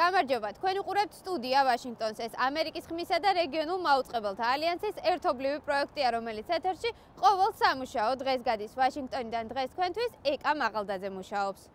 გამარჯობა, თქვენ უყურებთ სტუდია ვაშინგტონს. ეს ამერიკის ხმისა და რეგიონულ მაუწყებელთა ალიანსის ერთობლივი პროექტია, რომელიც ეთერში ყოველ სამუშაო დღეს გადის ვაშინგტონიდან. დღეს თქვენთვის ეკა მაღალდაძე მუშაობს.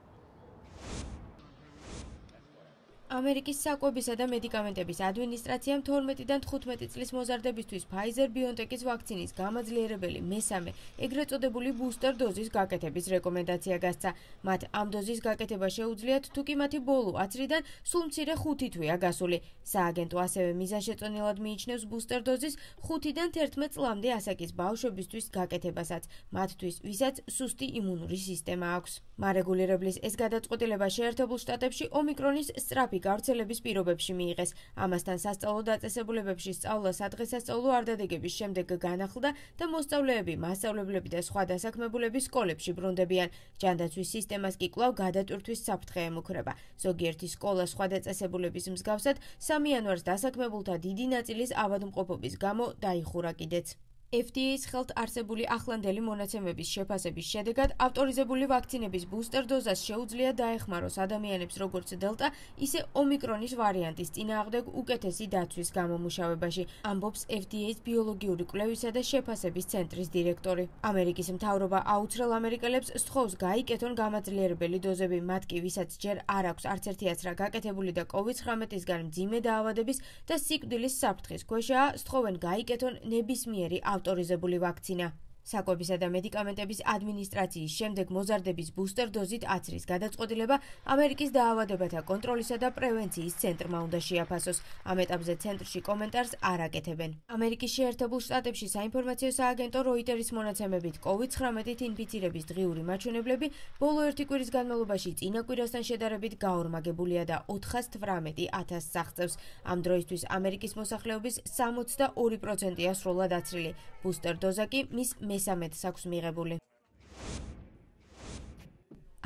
ამერიკის საკვებისა და მედიკამენტების ადმინისტრაციამ 12-დან 15 წლის მოზარდებისთვის Pfizer-BioNTech-ის ვაქცინის გამაძლიერებელი მესამე, ეგრეთ წოდებული ბუსტერ დოზის გაკეთების რეკომენდაცია გასცა. მათ ამ დოზის გაკეთება შეუძლიათ, თუკი მათი ბოლო აცრიდან სულ მცირე 5 თვეა გასული. სააგენტო ასევე მიზანშეწონილად მიიჩნევს ბუსტერ დოზის 5-დან 11 წლამდე ასაკის ბავშვებისთვის გაკეთებასაც, მათთვის, ვისაც სუსტი იმუნური სისტემა აქვს. მარეგულირებლის ეს გადაწყვეტილება შეერთებულ შტატებში ომიკრონის სწრაფი გავრცელების პირობებში მიიღეს. ამასთან სასწავლო დაწესებულებებში სწავლა სადღესასწაულო არდადეგების შემდეგ განახლდა და მოსწავლეები, მასწავლებლები და სხვა დასაქმებულები სკოლებში ბრუნდებიან. ჯანდაცვის სისტემას კი კვლავ გადატვირთვის საფრთხე ემუქრება. ზოგიერთი სკოლა სხვა დაწესებულების მსგავსად 3 იანვარს დასაქმებულთა დიდი ნაწილის ავადმყოფობის გამო დაიხურა კიდეც. FDA-ის ხელთ არსებული ახლანდელი მონაცემების შეფასების შედეგად ავტორიზებული ვაქცინების ბუსტერ დოზას შეუძლია დაეხმაროს ადამიანებს როგორც დელტა, ისე ომიკრონის ვარიანტის წინააღმდეგ უკეთესი დაცვის გამომუშავებაში, ამბობს FDA-ის ბიოლოგიური კვლევისა და შეფასების ცენტრის დირექტორი. ამერიკის მთავრობა აუცრელ ამერიკელებს სთხოვს გაიკეთონ გამაძლიერებელი დოზები, მათ კი, ვისაც ჯერ არ აქვს არც ერთი აცრა გაკეთებული და COVID-19-ისგან მძიმე დაავადების და სიკვდილის საფრთხის ქვეშაა, სთხოვენ გაიკეთონ ნებისმიერი ავტორიზებული ვაქცინა. საკვებისა და მედიკამენტების ადმინისტრაციის შემდეგ მოზარდების ბუსტერ დოზით აცრის გადაწყვეტილება ამერიკის დაავადებათა კონტროლისა და პრევენციის ცენტრმა უნდა შეაფასოს. ამ ეტაპზე ცენტრში კომენტარს არ აკეთებენ. ამერიკის შეერთებულ შტატებში საინფორმაციო სააგენტო Reuters-ის მონაცემებით COVID-19-ით ინფიცირების დღიური მაჩვენებლები ბოლო 1 კვირის განმავლობაში წინა კვირასთან შედარებით გაორმაგებულია და 418,000 აღწევს. ამ დროისთვის ამერიკის მოსახლეობის 62%-ია სრულად აცრილი. ბუსტერ დოზა კი მის მესამედს აქვს მიღებული.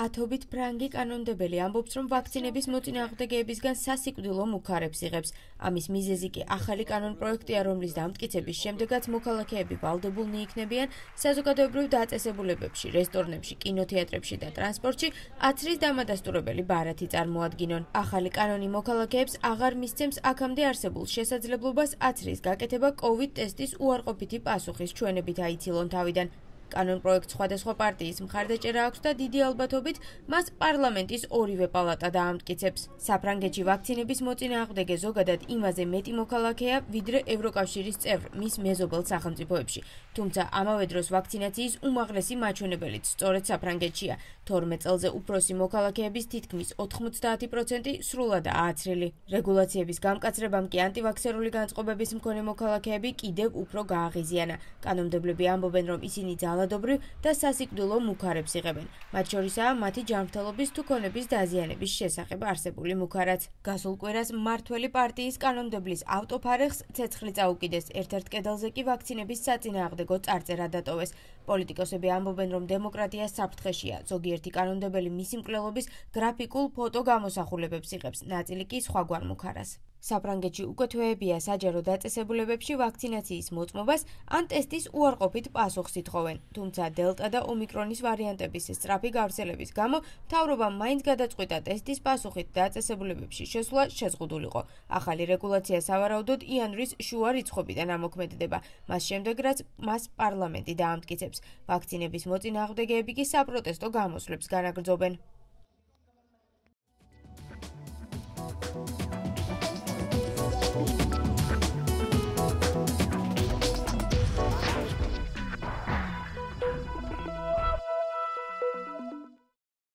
ათობით ფრანგი კანონმდებელი ამბობს, რომ ვაქცინების მოწინააღმდეგეებისგან სასიკვდილო მუქარებს იღებს. ამის მიზეზი კი ახალი კანონპროექტია, რომლის დამტკიცების შემდეგაც მოქალაქეები ვალდებულნი იქნებიან საზოგადოებრივ დაწესებულებებში, რესტორნებში, კინოთეატრებში და ტრანსპორტში აცრის დამადასტურებელი ბარათი წარმოადგინონ. ახალი კანონი მოქალაქეებს აღარ მისცემს აქამდე არსებულ შესაძლებლობას აცრის გაკეთება COVID ტესტის უარყოფითი პასუხის ჩვენებით აიცილონ თავიდან. კანონპროექტს სხვადასხვა პარტიის მხარდაჭერა აქვს და დიდი ალბათობით მას პარლამენტის ორივე პალატა დაამტკიცებს. საფრანგეთში ვაქცინების მოწინააღმდეგე ზოგადად იმაზე მეტი მოქალაქეა, ვიდრე ევროკავშირის წევრ მის მეზობელ სახელმწიფოებში. თუმცა ამავე დროს ვაქცინაციის უმაღლესი მაჩვენებელიც სწორედ საფრანგეთშია. 12 წელზე უფროსი მოქალაქეების თითქმის 90% სრულადაა აცრილი. რეგულაციების გამკაცრებამ კი ანტივაქსერული განწყობების მქონე მოქალაქეები კიდევ უფრო გააღიზიანა. კანონმდებლები ამბობენ, რომ ისინი ძალადობრივ და სასიკვდილო მუქარებს იღებენ. მათ შორისაა მათი ჯანმრთელობის თუ ქონების დაზიანების შესახებ არსებული მუქარაც. გასულ კვირას მმართველი პარტიის კანონმდებლის ავტოფარეხს ცეცხლი წაუკიდეს. ერთ-ერთ კედელზე კი ვაქცინების საწინააღმდეგო წარწერა დატოვეს. პოლიტიკოსები ამბობენ, რომ დემოკრატია საფრთხეშია. ზოგიერთი კანონმდებელი მისი მკვლელობის გრაფიკულ ფოტო გამოსახულებებს იღებს, ნაწილი კი სხვაგვარ მუქარას. საფრანგეთში უკვე თვეებია საჯარო დაწესებულებებში ვაქცინაციის მოწმობას ან ტესტის უარყოფით პასუხს ითხოვენ. თუმცა დელტა და ომიკრონის ვარიანტების სწრაფი გავრცელების გამო მთავრობამ მაინც გადაწყვიტა ტესტის პასუხით დაწესებულებებში შესვლა შეზღუდულიყო. ახალი რეგულაცია სავარაუდოდ იანვრის შუა რიცხვებიდან ამოქმედდება, მას შემდეგ რაც მას პარლამენტი დაამტკიცებს. ვაქცინების მოწინააღმდეგეები კი საპროტესტო გამოსვლებს განაგრძობენ.